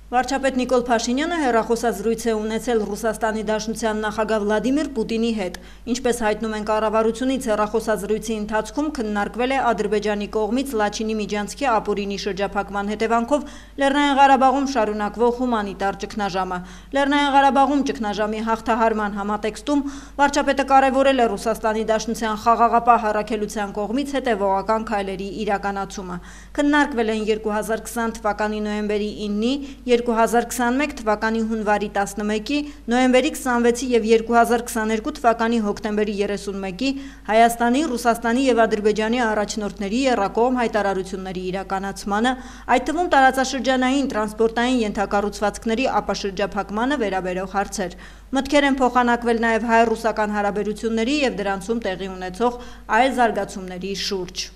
Վարչապետ Նիկոլ Փաշինյանը հեռախոսազրույց է ունեցել Ռուսաստանի Դաշնության նախագահ Վլադիմիր Պուտինի հետ։ Ինչպես հայտնում են կառավարությունից, հեռախոսազրույցի ընթացքում քննարկվել է Ադրբեջանի կողմից Լաչինի Միջանցքի ապօրինի շրջափակման հետևանքով Լեռնային Ղարաբաղում շարունակվող հումանիտար ճգնաժամը։ Լեռնային Ղարաբաղում ճգնաժամի հաղթահարման համատեքստում վարչապետը կարևորել է Ռուսաստանի Դաշնության խաղաղապահ առաքելության կողմից հետևողական քայլերի իրականացումը։ Քննարկվել են 2020 թվականի նոյեմբերի 9-ի, 2021 թվականի հունվարի 11-ի, նոյեմբերի 26-ի և 2022 թվականի հոկտեմբերի 31-ի Հայաստանի, Ռուսաստանի և Ադրբեջանի առաջնորդների եռակողմ հայտարարությունների իրականացմանը, այդ թվում տարածաշրջանային տրանսպորտային ենթակառուցվածքների ապաշրջափակմանը վերաբերող հարցեր։ Մտքեր են փոխանակվել նաև հայ-ռուսական հարաբերությունների և դրանցում տեղի ունեցող այլ զարգացումների շուրջ։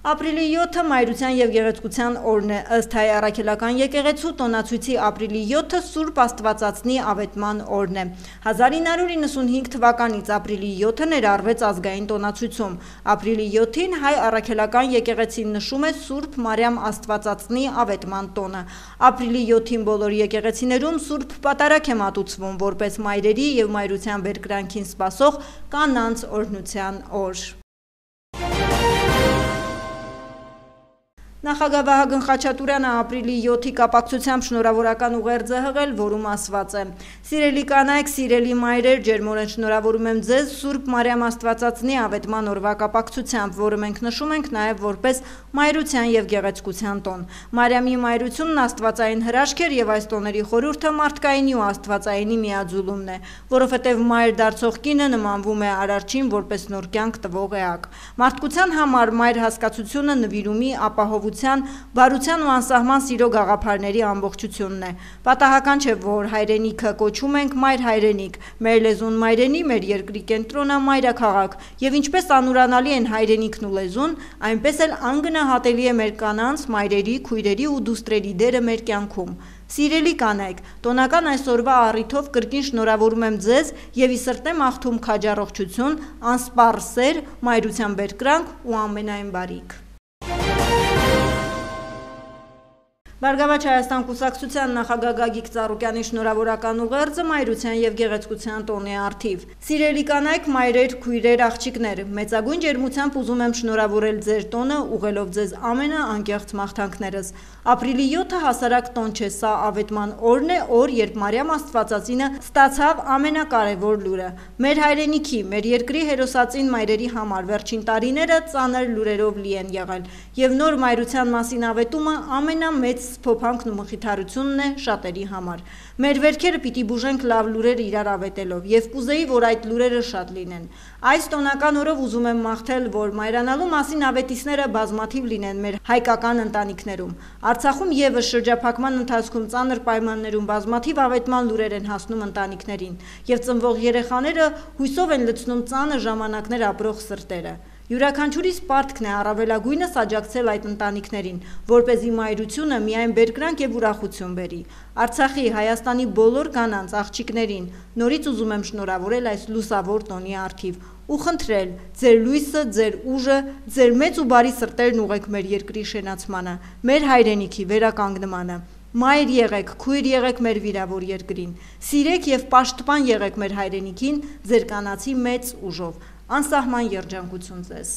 Ապրիլի 7-ը Մայրության և Գեղեցկության օրն է, ըստ Հայ առաքելական եկեղեցու տոնացույցի ապրիլի 7-ը Սուրբ Աստվածածնի ավետման օրն է։ 1995 թվականից ապրիլի 7-ը ներառվեց ազգային տոնացույցում։ Ապրիլի 7-ին Հայ առաքելական եկեղեցին նշում է Սուրբ Մարիամ Աստվածածնի ավետման տոնը։ Ապրիլի 7-ին բոլոր եկեղեցիներում Սուրբ Պատարագ է մատուցվում, որպես մայրերի և մայրության բերկրանքին սպասող կանանց օրհնության օր։ Նախագահ Վահագն Խաչատուրյանը ապրիլի 7-ի կապակցությամբ շնորհավորական ուղերձ է հղել, որում ասված է. «Սիրելի կանայք, սիրելի մայրեր, ջերմորեն շնորհավորում եմ ձեզ Սուրբ Մարիամ Աստվածածնի ավետման օրվա կապակցությամբ, որը մենք նշում ենք նաև որպես Մայրության և Գեղեցկության տոն։ Մարիամի մայրությունն աստվածային հրաշք էր և այս տոների խորհուրդը մարդկայինի ու աստվածայինի միաձուլումն է, որովհետև մայր դարձող կինը նմանվում է Արարչին որպես նոր կյանք տվող էակ։ Մարդկության համար մայր հասկացությունը նվիրումի, ապահովության, բարության ու անսահման սիրո գաղափարների ամբողջությունն է։ Պատահական չէ, որ հայրենիքը կոչում ենք մայր հայրենիք, մեր լեզուն մայրենի, մեր երկրի կենտրոնը մայրաքաղաք, և ինչպես անուրանալի են հայրենիքն ու լեզուն, այնպես էլ անգնահատելի է մեր կանանց, մայրերի, քույրերի ու դուստրերի դերը մեր կյանքում։ Սիրելի կանայք, տոնական այսօրվա առիթով կրկին շնորհավորում եմ ձեզ և ի սրտե մաղթում քաջառողջություն, անսպառ սեր, մայրության բերկրանք ու ամենայն բարիք։ Բարգավաճ Հայաստան կուսակցության նախագահ Գագիկ Ծառուկյանի շնորհավորական ուղերձը Մայրության և Գեղեցկության տոնի առթիվ։ Սիրելի կանայք, մայրեր, քույրեր, աղջիկներ, մեծագույն ջերմությամբ ուզում եմ շնորհավորել ձեր տոնը, ուղղելով ձեզ ամենաանկեղծ մաղթանքներս։ Ապրիլի 7-ը հասարակ տոն չէ, սա ավետման օրն է, օր, երբ Մարիամ Աստվածածինը ստացավ ամենակարևոր լուրը։ Մեր հայրենիքի, մեր երկրի հերոսածին մայրերի համար վերջին տարիները ծանր լուրերով լի են եղել, և նոր մայրության մասին ավետումը ամենամեծ սփոփանքն ու մխիթարությունն է շատերի համար։ Մեր վերքերը պիտի բուժենք լավ լուրեր իրար ավետելով, և կուզեի, որ այդ լուրերը շատ լինեն։ Այս տոնական օրով ուզում եմ մաղթել, որ մայրանալու մասին ավետիցները բազմաթիվ լինեն մեր հայկական ընտանիքներում։ Արցախում ևս շրջափակման ընթացքում ծանր պայմաններում բազմաթիվ ավետման լուրեր են հասնում ընտանիքներին, և ծնվող երեխաները հույսով են լցնում ծանր ժամանակներ ապրող սրտերը։ Յուրաքանչյուրիս պարտքն է առավելագույնս աջակցել այդ ընտանիքներին, որպեսզի մայրությունը միայն բերկրանք և ուրախություն բերի։ Արցախի, Հայաստանի բոլոր կանանց, աղջիկներին նորից ուզում եմ շնորհավորել այս լուսավոր տոնի առթիվ ու խնդրել ձեր լույսը, ձեր ուժը, ձեր մեծ ու բարի սրտերն ուղղեք մեր երկրի շենացմանը, մեր հայրենիքի վերականգնմանը։ Մայր եղեք, քույր եղեք մեր վիրավոր երկրին, սիրեք և պաշտպան եղեք մեր հայրենիքին ձեր կանացի մեծ ուժով։ Անսահման երջանկություն ձեզ։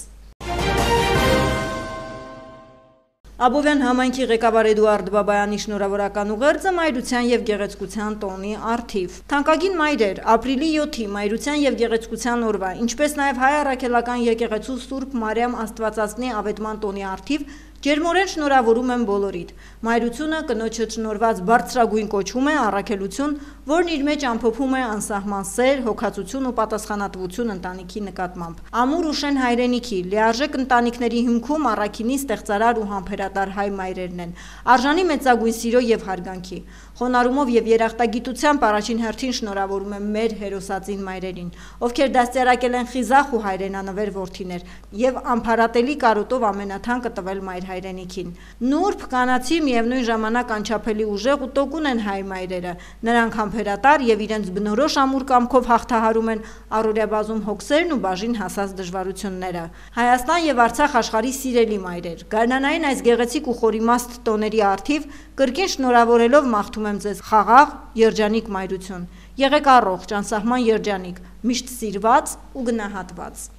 Աբովյան համայնքի ղեկավար Էդուարդ Բաբայանի շնորհավորական ուղերձը Մայրության և Գեղեցկության տոնի առթիվ։ Թանկագին մայրեր, ապրիլի 7-ի Մայրության և Գեղեցկության օրվա, ինչպես նաև Հայ առաքելական եկեղեցու Սուրբ Մարիամ Աստվածածնի ավետման տոնի առթիվ ջերմորեն շնորհավորում եմ բոլորիդ։ Մայրությունը կնոջը շնորհված բարձրագույն կոչում է, առաքելություն, որն իր մեջ ամփոփում է անսահման սեր, հոգացություն ու պատասխանատվություն ընտանիքի նկատմամբ։ Ամուր ու շեն հայրենիքի, լիարժեք ընտանիքների հիմքում առաքինի ստեղծարար ու համբերատար հայ մայրերն են, արժանի մեծագույն սիրո և հարգանքի։ Խոնարհումով և երախտագիտությամբ առաջին հերթին շնորհավորում եմ մեր հերոսածին մայրերին, ովքեր դաստիարակել են խիզախ ու հայրենանվեր որդիներ և ամփարատելի կարոտով ամենաթանկը տվել մայր հայրենիքին։ Նուրբ, կանացի, միևնույն ժամանակ անչափելի ուժեղ ու տոկուն են հայ մայրերը։ Նրանք համբերատար եւ իրենց բնորոշ ամուր կամքով հաղթահարում են առօրյա բազում հոգսերն ու բաժին հասած դժվարությունները։ Հայաստան եւ Արցախ աշխարհի սիրելի մայրեր, գարնանային այս գեղեցիկ ու խորիմաստ տոների առթիվ կրկին շնորհավորելով մաղթում եմ ձեզ խաղաղ, երջանիկ մայրություն։ Եղեք առողջ, անսահման երջանիկ, միշտ սիրված ու գնահատված։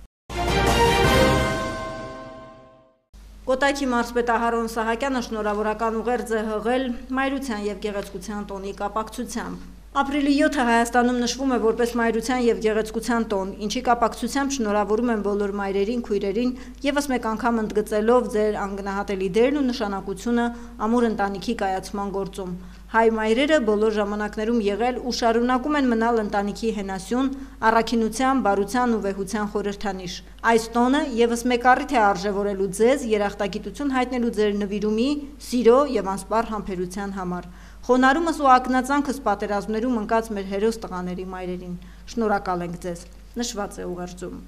Կոտայքի մարզպետ Ահարոն Սահակյանը շնորհավորական ուղերձ է հղել մայրության եւ գեղեցկության տոնի կապակցությամբ։ Ապրիլի 7-ը Հայաստանում նշվում է որպես մայրության եւ գեղեցկության տոն, ինչի կապակցությամբ շնորհավորում եմ բոլոր մայրերին, քույրերին, եւս մեկ անգամ ընդգծելով ձեր անգնահատելի դերն ու նշանակությունը ամուր ընտանիքի կայացման գործում։ Հայ մայրերը բոլոր ժամանակներում եղել ու շարունակում են մնալ ընտանիքի հենասյուն, առաքինության, բարության ու վեհության խորհրդանիշ։ Այս տոնը եւս մեկ առիթ է արժևորելու ձեզ երախտագիտություն հայտնելու ձեր նվիրումի, սիրո եւ անսպառ համբերության համար։ Խոնարհումս ու ակնածանքս պատերազմներում ընկած մեր հերոս տղաների մայրերին։ Շնորհակալ ենք ձեզ, նշված է ուղերձում։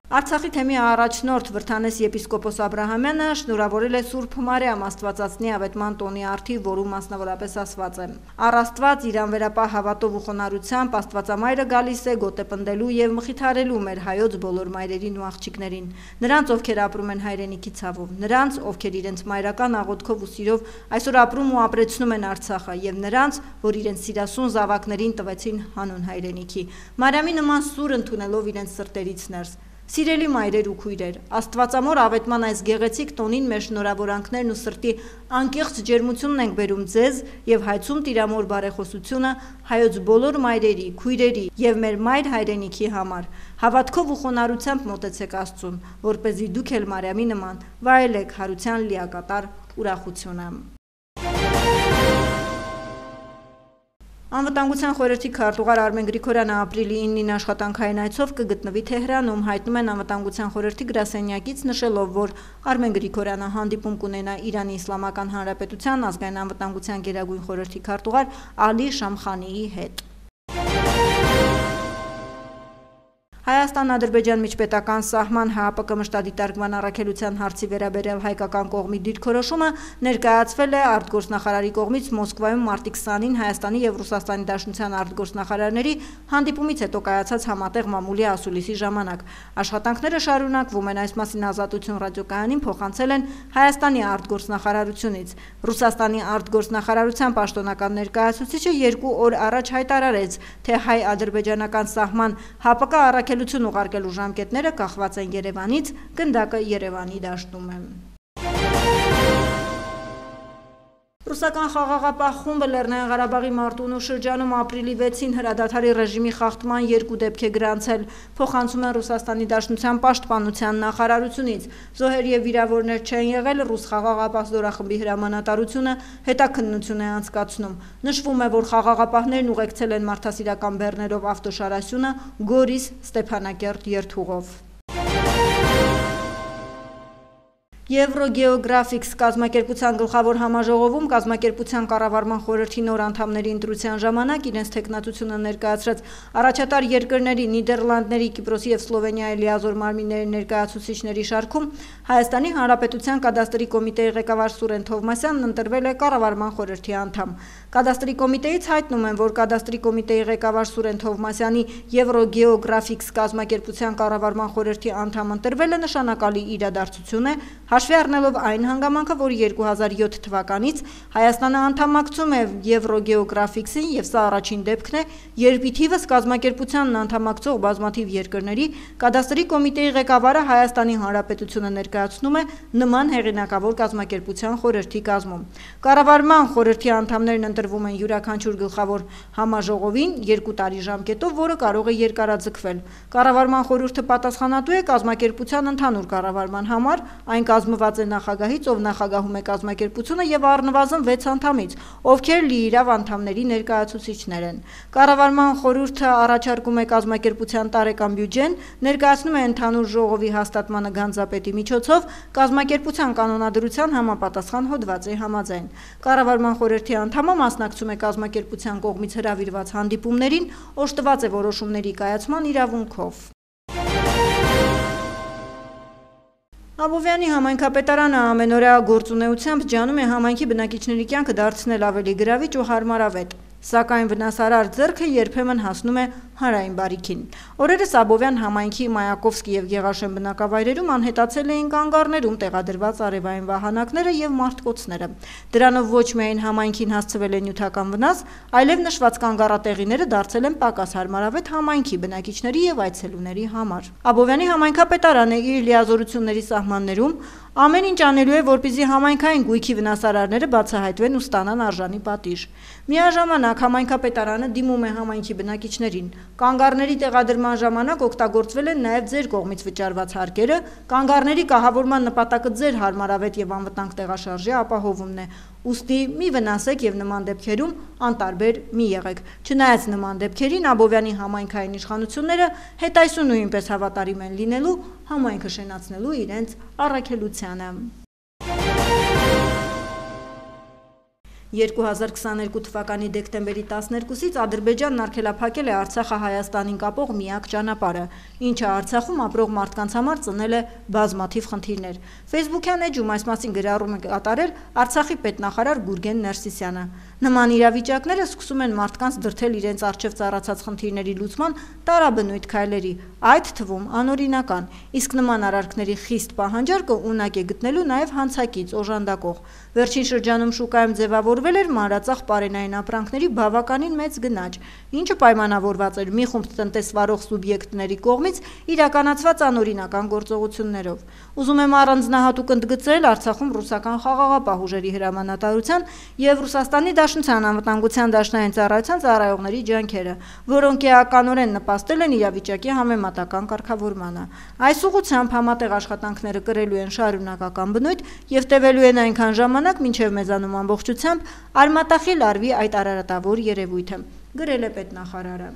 Արցախի թեմի առաջնորդ Վրթանես եպիսկոպոս Աբրահամյանը շնորհավորել է Սուրբ Մարիամ Աստվածածնի ավետման տոնի առթիվ, որում մասնավորապես ասված է. «Առ Աստված իր անվերապահ հավատով ու խոնարհությամբ Աստվածամայրը գալիս է գոտեպնդելու եւ մխիթարելու մեր հայոց բոլոր մայրերին ու աղջիկներին, նրանց, ովքեր ապրում են հայրենիքի ցավով, նրանց, ովքեր իրենց մայրական աղոթքով ու սիրով այսօր ապրում ու ապրեցնում են Արցախը, եւ նրանց, որ իրենց սիրասուն զավակներին տվեցին հանուն հայրենիքի, Մարիամի նման սուր ընդունելով իրենց սրտերից ներս։ Սիրելի մայրեր ու քույրեր, Աստվածամոր ավետման այս գեղեցիկ տոնին մեր շնորհավորանքներն ու սրտի անկեղծ ջերմությունն ենք բերում ձեզ եւ հայցում Տիրամոր բարեխոսությունը հայոց բոլոր մայրերի, քույրերի եւ մեր մայր հայրենիքի համար։ Հավատքով ու խոնարհությամբ մոտեցեք Աստծուն, որպեսզի դուք էլ Մարիամի նման վայելեք հարության լիակատար ուրախությունը։ Անվտանգության խորհրդի քարտուղար Արմեն Գրիգորյանը ապրիլի 9-ին աշխատանքային այցով կգտնվի Թեհրանում, հայտնում են Անվտանգության խորհրդի գրասենյակից, նշելով, որ Արմեն Գրիգորյանը հանդիպում կունենա Իրանի Իսլամական Հանրապետության ազգային անվտանգության գերագույն խորհրդի քարտուղար Ալի Շամխանիի հետ։ Հայաստան-Ադրբեջան միջպետական սահման ՀԱՊԿ մշտադիտարկման առաքելության հարցի վերաբերյալ հայկական կողմի դիրքորոշումը ներկայացվել է արտգործնախարարի կողմից Մոսկվայում մարտի 20-ին Հայաստանի եւ Ռուսաստանի Դաշնության արտգործնախարարների հանդիպումից հետո կայացած համատեղ մամուլի ասուլիսի ժամանակ։ Աշխատանքները շարունակվում են, այս մասին Ազատություն ռադիոկայանին փոխանցել են Հայաստանի արտգործնախարարությունից։ Ռուսաստանի արտգործնախարարության պաշտոնական ներկայացուցիչը 2 օր առաջ հայտարարեց, թե հայ-ադրբեջանական սահման ՀԱՊԿ առաքելություն ուղարկելու ժամկետները կախված են Երևանից, գնդակը Երևանի դաշտում է։ Ռուսական խաղաղապահ խումբը Լեռնային Ղարաբաղի Մարտունու շրջանում ապրիլի 6-ին հրադադարի ռեժիմի խախտման 2 դեպք է գրանցել, փոխանցում են Ռուսաստանի Դաշնության պաշտպանության նախարարությունից։ Զոհեր եւ վիրավորներ չեն եղել, ռուս խաղաղապահ զորախմբի հրամանատարությունը հետաքննություն է անցկացնում։ Նշվում է, որ խաղաղապահներն ուղեկցել են մարդասիրական բեռներով ավտոշարասյունը Գորիս Ստեփանակերտ երթուղով։ Եվրոգեոգրաֆիքս կազմակերպության գլխավոր համաժողովում կազմակերպության կառավարման խորհրդի նոր անդամների ընտրության ժամանակ իրենց թեկնածությունը ներկայացրած առաջատար երկրների Նիդերլանդների, Կիպրոսի եւ Սլովենիայի լիազոր մարմինների ներկայացուցիչների շարքում Հայաստանի Հանրապետության կադաստրի կոմիտեի ղեկավար Սուրեն Թովմասյանն ընտրվել է կառավարման խորհրդի անդամ։ Կադաստրի կոմիտեից հայտնում են, որ կադաստրի կոմիտեի ղեկավար Սուրեն Թովմասյանի Եվրոգեոգրաֆիքս կազմակերպության կառավարման խորհրդի անդամ ընտրվելը նշանակալի իրադարձություն է, հաշվի առնելով այն հանգամանքը, որ 2007 թվականից Հայաստանը անդամակցում է Եվրոգեոգրաֆիքսին եւ սա առաջին դեպքն է, երբ ի թիվս կազմակերպությանն անդամակցող բազմաթիվ երկրների կադաստրի կոմիտեի ղեկավարը Հայաստանի Հանրապետությունը ներկայացնում է նման հեղինակավոր կազմակերպության խորհրդի կազմում։ Կառավարման խորհրդի անդամներն ընտրվում են յուրաքանչյուր գլխավոր համաժողովին 2 տարի ժամկետով, որը կարող է երկարաձգվել։ Կառավարման խորհուրդը պատասխանատու է կազմակերպության ընդհանուր կառավարման համար, այն կազմված է նախագահից, ով նախագահում է կազմակերպությունը եւ առնվազն 6 անդամից, ովքեր լիիրավ անդամների ներկայացուցիչներ են։ Կառավարման խորհուրդը առաջարկում է կազմակերպության տարեկան բյուջեն, ներկայացնում է ընդհանուր ժողովի հաստատմանը գանձապետի միջոցով կազմակերպության կանոնադրության համապատասխան հոդվածի համաձայն։ Կառավարման խորհրդի անդամը մասնակցում է կազմակերպության կողմից հրավիրված հանդիպումներին, օժտված է որոշումների կայացման իրավունքով։ Աբովյանի համայնքապետարանը ամենօրյա գործունեությամբ ջանում է համայնքի բնակիչների կյանքը դարձնել ավելի գրավիչ ու հարմարավետ, սակայն վնասարար ձեռքը երբեմն հասնում է հանրային բարիքին։ Օրերս Աբովյան համայնքի Մայակովսկի եւ Գեղաշեն բնակավայրերում անհետացել էին կանգառներում տեղադրված արևային վահանակները եւ մարտկոցները։ Դրանով ոչ միայն համայնքին հասցվել է նյութական վնաս, այլև նշված կանգառատեղիները դարձել են պակաս հարմարավետ համայնքի բնակիչների եւ այցելուների համար։ Աբովյանի համայնքապետարանը իր լիազորությունների սահմաններում ամեն ինչ անելու է, որպեսզի համայնքային գույքի վնասարարները բացահայտվեն ու ստանան արժանի պատիժ։ Միաժամանակ համայնքապետարանը դիմում է համայնքի բնակիչներին։ Կանգառների տեղադրման ժամանակ օգտագործվել են նաև ձեր կողմից վճարված հարկերը, կանգառների կահավորման նպատակը ձեր հարմարավետ եւ անվտանգ տեղաշարժի ապահովումն է։ Ուստի մի վնասեք եւ նման դեպքերում անտարբեր մի եղեք։ Չնայած նման դեպքերին Աբովյանի համայնքային իշխանությունները հետայսու նույնպես հավատարիմ են լինելու համայնքը շենացնելու իրենց առաքելությանը։ 2022 թվականի դեկտեմբերի 12-ից Ադրբեջանն արգելափակել է Արցախը Հայաստանին կապող միակ ճանապարհը, ինչը Արցախում ապրող մարդկանց համար ծնել է բազմաթիվ խնդիրներ։ Facebook-յան էջում այս մասին գրառում է կատարել Արցախի պետնախարար Գուրգեն Ներսիսյանը։ Նման իրավիճակները սկսում են մարդկանց դրդել իրենց առջև ծառացած խնդիրների լուծման տարաբնույթ քայլերի, այդ թվում անօրինական, իսկ նման արարքների խիստ պահանջարկը ունակ է գտնելու նաև հանցակից օժանդակող։ Վերջին շրջանում շուկայում ձևավորվել էր մանրածախ պարենային ապրանքների բավականին մեծ գնաճ, ինչը պայմանավորված էր մի խումբ տնտեսվարող սուբյեկտների կողմից իրականացված անօրինական գործողություններով։ Ուզում եմ առանձնահատուկ ընդգծել Արցախում ռուսական խաղաղապահ ուժերի հրամանատարության եւ Ռուսաստանի Դաշնության անվտանգության դաշնային ծառայության ծառայողների ջանքերը, որոնք էականորեն նպաստել են իրավիճակի համեմատական կարգավորմանը։ Այս ուղղությամբ համատեղ աշխատանքները կրելու են շարունակական բնույթ եւ տևելու են այնքան ժամանակ, մինչեւ մեզանում ամբողջությամբ արմատախիլ արվի այդ արարատավոր երևույթը, գրել է պետնախարարը։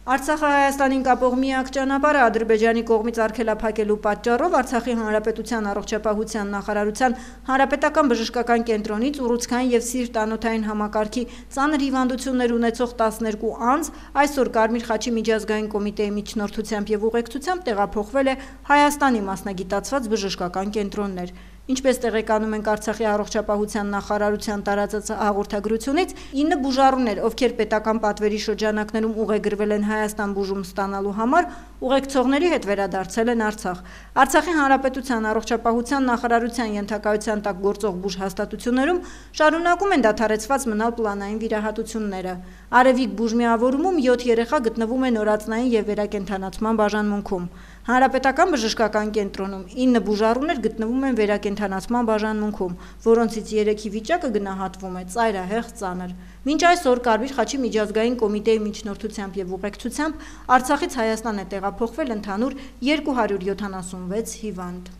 Արցախը Հայաստանին կապող միակ ճանապարհը Ադրբեջանի կողմից արգելափակելու պատճառով Արցախի Հանրապետության առողջապահության նախարարության հանրապետական բժշկական կենտրոնից ուռուցքային եւ սիրտ-անոթային համակարգի ծանր հիվանդություններ ունեցող 12 անձ այսօր Կարմիր խաչի միջազգային կոմիտեի միջնորդությամբ եւ ուղեկցությամբ տեղափոխվել է Հայաստանի մասնագիտացված բժշկական կենտրոններ։ Ինչպես տեղեկանում ենք Արցախի առողջապահության նախարարության տարածած հաղորդագրությունից, 9 բուժառուներ, ովքեր պետական պատվերի շրջանակներում ուղեգրվել են Հայաստան բուժում ստանալու համար, ուղեկցողների հետ վերադարձել են Արցախ։ Արցախի Հանրապետության առողջապահության նախարարության ենթակայության տակ գործող բուժհաստատություններում շարունակում են դադարեցված մնալ պլանային վիրահատությունները։ Արևիկ բուժմիավորումում 7 երեխա գտնվում է նորածնային եւ վերակենդանացման բաժանմունքում։ Հանրապետական բժշկական կենտրոնում 9 բուժառուներ գտնվում են վերակենդանացման բաժանմունքում, որոնցից 3-ի վիճակը գնահատվում է ծայրահեղ ծանր։ Մինչ այսօր Կարմիր խաչի միջազգային կոմիտեի միջնորդությամբ եւ ուղեկցությամբ Արցախից Հայաստան է տեղափոխվել ընդհանուր 276 հիվանդ։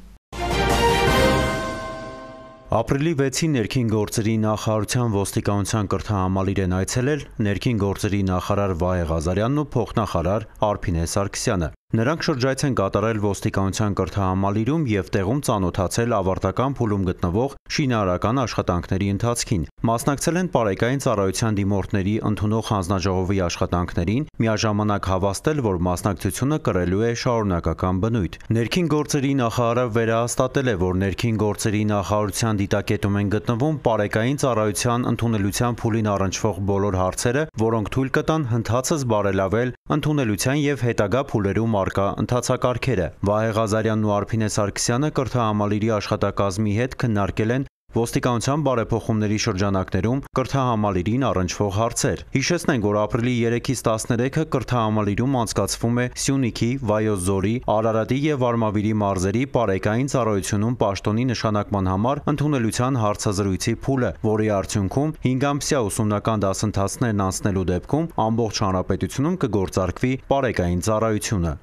Ապրիլի 6-ին ներքին գործերի նախարարության ոստիկանության կրթահամալիր են այցելել ներքին գործերի նախարար Վահե Ղազարյանն ու փոխնախարար Արփինե Սարգսյանը։ Նրանք շրջայց են կատարել ոստիկանության կրթահամալիրում եւ տեղում ծանոթացել ավարտական փուլում գտնվող շինարարական աշխատանքների ընթացքին։ Մասնակցել են պարեկային ծառայության դիմորդների ընդունող հանձնաժողովի աշխատանքներին, միաժամանակ հավաստել, որ մասնակցությունը կրելու է շարունակական բնույթ։ Ներքին գործերի նախարարը վերահաստատել է, որ ներքին գործերի նախարարության դիտակետում են գտնվում պարեկային ծառայության ընդունելության փուլին առնչվող բոլոր հարցերը, որոնք թույլ կտան հնդածս բարելավել ընդունելության եւ հետագա փուլերում արկա ընթացակարգերը։ Վահե Ղազարյանն ու Արփինե Սարգսյանը կրթահամալիրի աշխատակազմի հետ քննարկել են ոստիկանության բարեփոխումների շրջանակներում կրթահամալիրին առնչվող հարցեր։ Հիշեցնենք, որ ապրիլի 3-ից 13-ը կրթահամալիրում անցկացվում է Սյունիքի, Վայոց ձորի, Արարատի եւ Արմավիրի մարզերի պարեկային ծառայությունում պաշտոնի նշանակման համար ընդունելության հարցազրույցի փուլը, որի արդյունքում 5-ամսյա ուսումնական դասընթացներն անցնելու դեպքում ամբողջ հանրապետությունում կգործարկվի պարեկային ծառայությունը։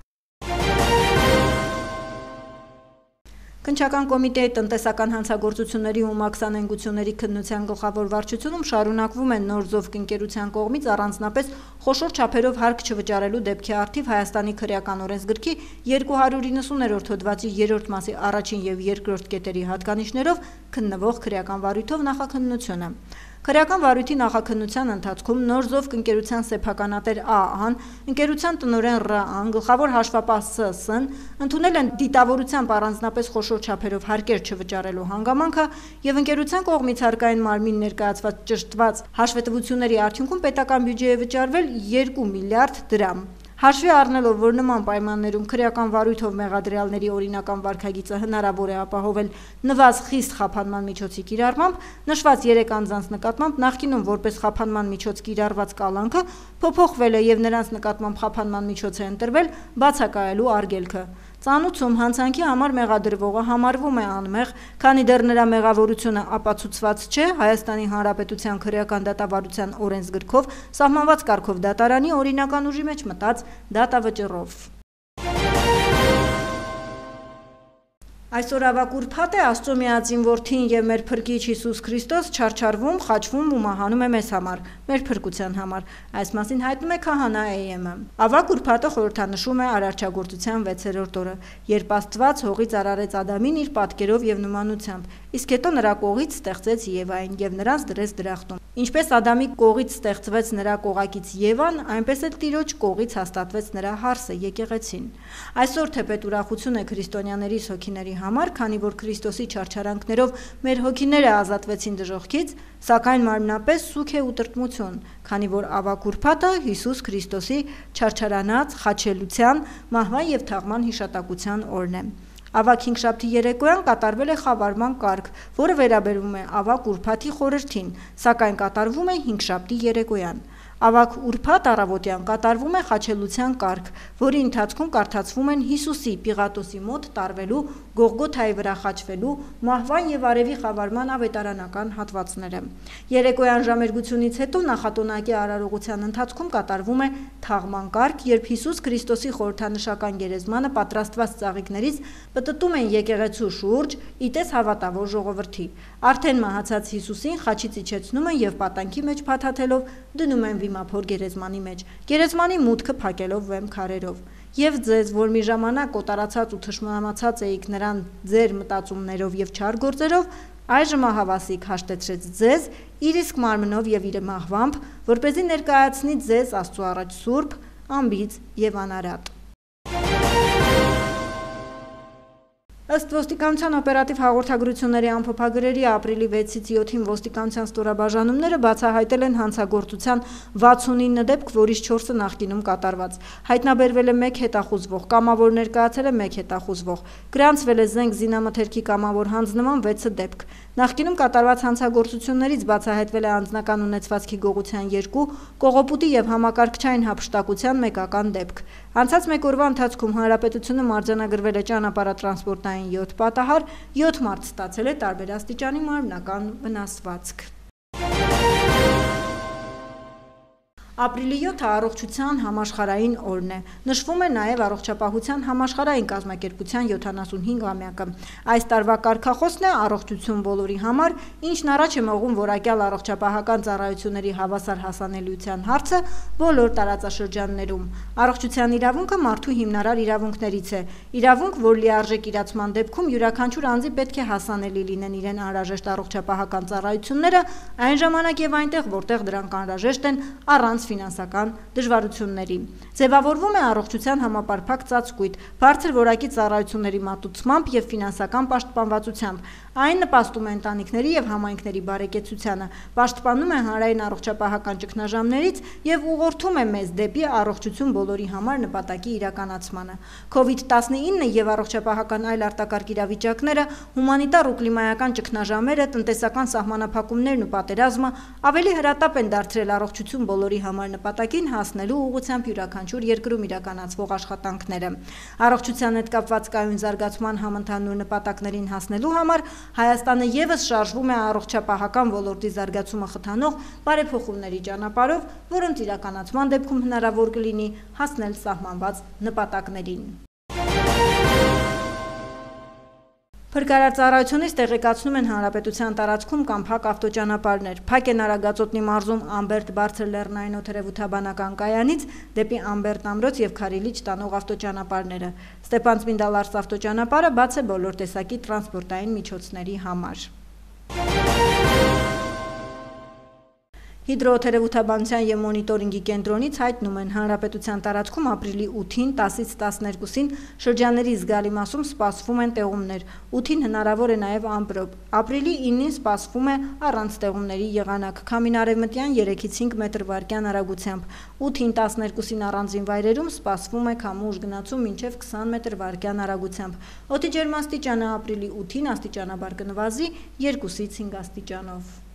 Քննչական կոմիտեի տնտեսական հանցագործությունների ու մաքսանենգությունների քննության գլխավոր վարչությունում շարունակվում են նոր Զովկ ընկերության կողմից առանձնապես խոշոր չափերով հարկ չվճարելու դեպքի առթիվ Հայաստանի քրեական օրենսգրքի 290-րդ հոդվածի 3-րդ մասի առաջին եւ երկրորդ կետերի հատկանիշներով քննվող քրեական վարույթով նախաքննությունը։ Քրեական վարույթի նախաքննության ընթացքում նոր զովք ընկերության սեփականատեր ԱԱ-ն, ընկերության տնօրեն ՌԱԱ-ն, գլխավոր հաշվապահ ՍՍ-ն ընդունել են դիտավորությամբ առանձնապես խոշոր չափերով հարկեր չվճարելու հանգամանքը եւ ընկերության կողմից հարկային մարմին ներկայացված ճշտված հաշվետվությունների արդյունքում պետական բյուջե에 վճարվել 2 միլիարդ դրամ։ Հաշվի առնելով, որ նման պայմաններում քրեական վարույթով մեղադրյալների օրինական վարքագիծը հնարավոր է ապահովել նվազ խիստ խափանման միջոցի կիրառմամբ, նշված 3 անձանց նկատմամբ նախկինում որպես խափանման միջոց կիրառված կալանքը փոփոխվել է եւ նրանց նկատմամբ խափանման միջոց է ընտրվել բացակայելու արգելքը։ Ծանուցում հանցանքի համար մեղադրվողը համարվում է անմեղ, քանի դեռ նրա մեղավորությունը ապացուցված չէ Հայաստանի Հանրապետության քրեական դատավարության օրենսգրքով սահմանված կարգով դատարանի օրինական ուժի մեջ մտած դատավճռով։ Այսօր ավագ ուրբաթ է, Աստծո միածին որդին եւ մեր փրկիչ Հիսուս Քրիստոս չարչարվում, խաչվում ու մահանում է մեզ համար, մեր փրկության համար։ Այս մասին հայտնում է քահանա AM-ը։ Ավագ ուրբաթը խորհրդանշում է արարչագործության 6-րդ օրը, երբ Աստված հողից արարեց Ադամին իր պատկերով եւ նմանությամբ, իսկ հետո նրա կողից ստեղծեց Եվային եւ նրանց դրեց դրախտում։ Ինչպես Ադամի կողից ստեղծվեց նրա կողակից Եվան, այնպես էլ Տիրոջ կողից հաստատվեց նրա հարսը եկեղեցին։ Այսօր թեպետ ուրախություն է քրիստոնյաների հոգիների համար, քանի որ Քրիստոսի չարչարանքներով մեր հոգիները ազատվեցին դժոխքից, սակայն մարմնապես սուգ է ու տրտմություն, քանի որ ավագ ուրբաթը Հիսուս Քրիստոսի չարչարանած խաչելության, մահվան եւ թաղման հիշատակության օրն է։ Ավագ հինգշաբթի երեկոյան կատարվել է խավարման կարգ, որը վերաբերում է ավագ ուրբաթի խորհրդին, սակայն կատարվում է հինգշաբթի երեկոյան։ Ավագ ուրբաթ առավոտյան կատարվում է խաչելության կարգ, որի ընթացքում կարդացվում են Հիսուսի Պիղատոսի մոտ տարվելու, Գողգոթայի վրա խաչվելու, մահվան եւ արևի խավարման ավետարանական հատվածները։ Երեկոյան ժամերգությունից հետո նախատոնակի արարողության ընթացքում կատարվում է թաղման կարգ, երբ Հիսուս Քրիստոսի խորհրդանշական գերեզմանը պատրաստված ծաղիկներից պտտում են եկեղեցու շուրջ, իտես հավատավոր ժողովրդի։ Արդեն մահացած Հիսուսին խաչից իջեցնում են եւ պատանքի մեջ փաթաթելով դնում են վիմափոր գերեզմանի մեջ, գերեզմանի մուտքը փակելով վեմ քարերով։ Եվ ձեզ, որ մի ժամանակ կոտարացած ու թշնամացած էիք նրան ձեր մտածումներով եւ չար գործերով, այժմ ահավասիկ հաշտեցրեց ձեզ իր իսկ մարմնով եւ իր մահվամբ, որպեսզի ներկայացնի ձեզ Աստծո առաջ սուրբ, անբիծ եւ անարատ։ Ըստ ոստիկանության օպերատիվ հաղորդագրությունների ամփոփագրերի ապրիլի 6-ից 7-ին ոստիկանության ստորաբաժանումները բացահայտել են հանցագործության 69 դեպք, որից 4-ը նախկինում կատարված։ Հայտնաբերվել է 1 հետախուզվող, կամավոր ներկայացել է 1 հետախուզվող, գրանցվել է զենք զինամթերքի կամավոր հանձնման 6 դեպք։ Նախկինում կատարված հանցագործություններից բացահայտվել է անձնական ունեցվածքի գողության 2, կողոպուտի եւ համակարգչային հափշտակության 1 դեպք։ Անցած 1 օրվա ընթացքում հանրապետությունը մարտահրավերել է ճանապարհատրանսպորտային 7 պատահար, 7 մարդ ստացել է տարբեր աստիճանի մարմնական վնասվածք։ Ապրիլի 7-ը առողջության համաշխարհային օրն է։ Նշվում է նաև առողջապահության համաշխարհային կազմակերպության 75-ամյակը։ Այս տարվա կարգախոսն է առողջություն բոլորի համար, ինչն առաջ է մղում որակյալ առողջապահական ծառայությունների հավասար հասանելիության հարցը բոլոր տարածաշրջաններում։ Առողջության իրավունքը մարդու հիմնարար իրավունքներից է։ Իրավունք, որ լիարժեք իրացման դեպքում յուրաքանչյուր անձի պետք է հասանելի լինեն իրեն անհրաժեշտ առողջապահական ծառայությունները, այն ժամանակ եւ այնտեղ, որտեղ դրանք անհրաժեշտ են առանց ֆինանսական դժվարությունների։ Ձևավորվում է առողջության համապարփակ ծածկույթ, բարձր որակի ծառայությունների մատուցմամբ եւ ֆինանսական պաշտպանվածությամբ։ Այն նպաստում է ընտանիքների եւ համայնքների բարեկեցությանը, պաշտպանում է հանրային առողջապահական ճգնաժամերից եւ ուղղորդում է մեզ դեպի առողջություն բոլորի համար նպատակի իրականացմանը։ COVID-19 եւ առողջապահական այլ արտակարգ իրավիճակները, հումանիտար ու կլիմայական ճգնաժամերը, տնտեսական սահմանափակումներն ու պատերազմը ավելի հրատապ են դարձրել առողջություն բոլորի համար նպատակին հասնելու ուղղությամբ յուրաքանչյուր երկրում իրականացվող աշխատանքները։ Առողջության հետ կապված կայուն զարգացման համընդհանուր նպատակներին հասնելու համար Հայաստանը եւս շարժվում է առողջապահական ոլորտի զարգացումը խթանող բարեփոխումների ճանապարհով, որոնց իրականացման դեպքում հնարավոր կլինի հասնել սահմանված նպատակներին։ Փրկարարծառայությունից տեղեկացնում են հանրապետության տարածքում կամ փակ ավտոճանապարհներ։ Փակ են Արագածոտնի մարզում Ամբերտ բարձր լեռնային օդերևութաբանական կայանից դեպի Ամբերտ ամրոց եւ Քարիլիչ տանող ավտոճանապարհները։ Ստեփան-Ծմինդալարս ավտոճանապարհը բաց է բոլոր տեսակի տրանսպորտային միջոցների համար։ Հիդրոթերապևտաբանության և մոնիտորինգի կենտրոնից հայտնում են, հանրապետության տարածքում ապրիլի 8-ին 10-ից 12-ին շրջանների զգալի մասում սպասվում են տեղումներ, 8-ին հնարավոր է նաև ամպրոպ, ապրիլի 9-ին սպասվում է առանց տեղումների եղանակ, քամին արևմտյան 3-ից 5 մետր/վայրկյան արագությամբ, 8-ին 12-ին առանձին վայրերում սպասվում է քամու ուժգնացում մինչև 20 մետր/վայրկյան արագությամբ, օդի ջերմաստիճանը ապրիլի 8-ին աստիճանաբար կնվազի 2-ից 5 աստիճանով։